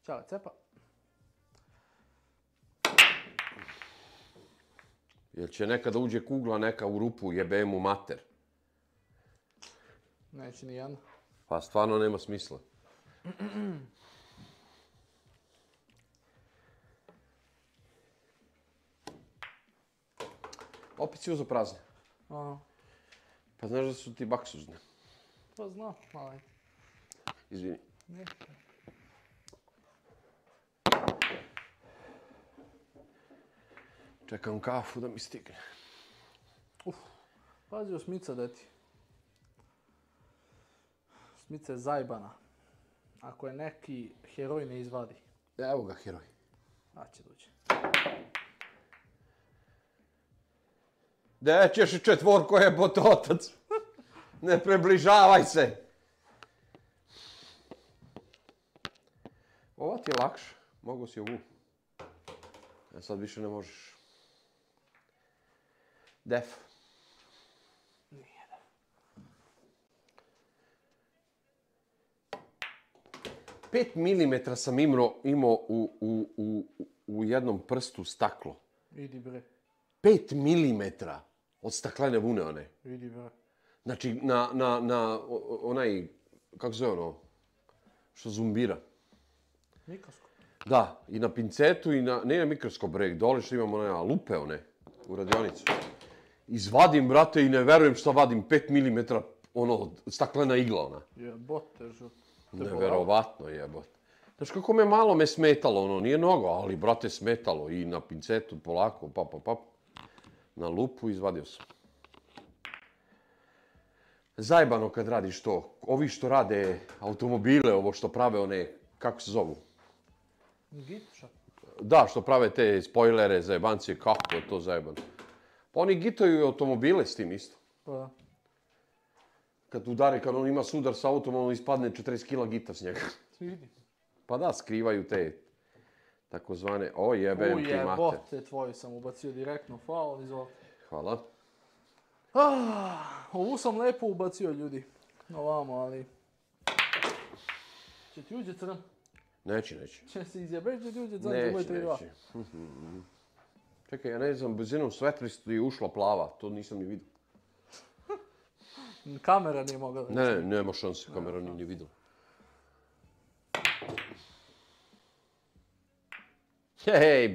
Ćao, cepa. Jel će nekada uđe kugla neka u rupu, jebe mu mater? Neće ni jedna. Pa stvarno nema smisla. Opet si uzeo prazne. Aha. Pa znaš da su ti baksuzne. Pa znam, malo je. Izvini. Ne. Čekam kafu da mi stigne. Pazi o Smica, deti. Smica je zajbana. Ako je neki heroj ne izvadi. Evo ga, heroj. A će doći. Gde ćeš i četvorko jebote otac? Ne približavaj se. Ova ti je lakša. Mogu si ovu. A sad više ne možeš. Def. Nije def. 5 milimetra sam imao u jednom prstu staklo. Idi bre. 5 milimetra od staklene vune one. Idi bre. Znači, na onaj, kako se zove ono, što zumbira. Mikroskop. Da, i na pincetu i na, ne na mikroskop bre, dole što imamo one lupe one, u radionicu. Izvadim, brate, i ne verujem šta vadim, 5 milimetra, ono, staklena igla ona. Jebote, žut. Neverovatno jebote. Znaš kako malo me smetalo, ono, nije mnogo, ali, brate, smetalo i na pincetu, polako, pap. Na lupu izvadio sam. Zajebano kad radiš to. Ovi što rade automobile, ovo što prave one, kako se zovu? Gitša. Da, što prave te spojlere, zajebancije, kako je to zajebano. Pa oni gitaju i automobile s tim isto. Pa. Kad udari, kad on ima sudar sa autom, on ispadne 40 kila gita s njega. Vidi. Pa da, skrivaju te takozvane, o jebem ti mater. Ujebote, tvoju sam ubacio direktno, faul, izvolite. Hvala. Ovu sam lepo ubacio, ljudi. Ovamo, ali... Će ti uđe crn? Neće. Će se izjebeš, će ti uđe crn, će bude 3-2. Neće. Čekaj, ja ne znam, brzinom svetristu je ušla plava, to nisam ni vidio. Kamera nije mogla da... Ne, nema šanse, kamera nije ni vidjela. Hej,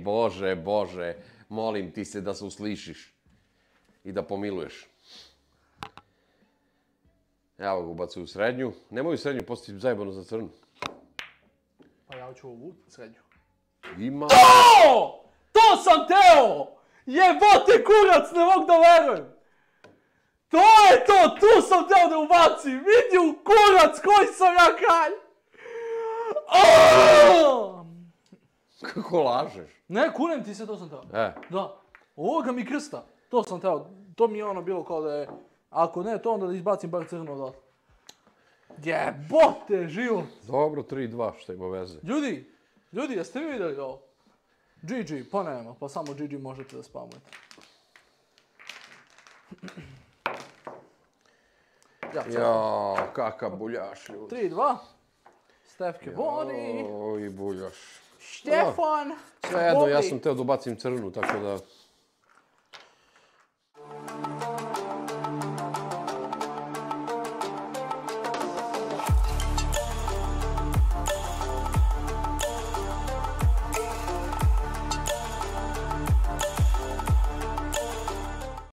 Bože, molim ti se da se uslišiš i da pomiluješ. Evo ga ubacuju u srednju. Nemoj u srednju, postoji zajebano za crnu. Pa ja ću ovu srednju. Ima... To sam teo! Jebote kurac, ne mogu da verujem! To je to, tu sam teo da ubacim! Vidi u kurac koji sam ja kralj! Kako lažeš? Ne, kunem ti se, to sam teo. Da. Ovoga mi krsta. To sam teo. To mi je ono bilo kao da je... Ako ne to, onda da izbacim bar crno odatle. Jebote, život! Dobro, 3-2, što ima veze. Ljudi, jeste vi vidjeli ovo? GG, pa nema, pa samo GG možete da spamujete. Jao, kakav buljaš, ljudi. 3-2. Stefke vodi. Oj, buljaš. Štefan. Svejedno, ja sam teo da ubacim crnu, tako da...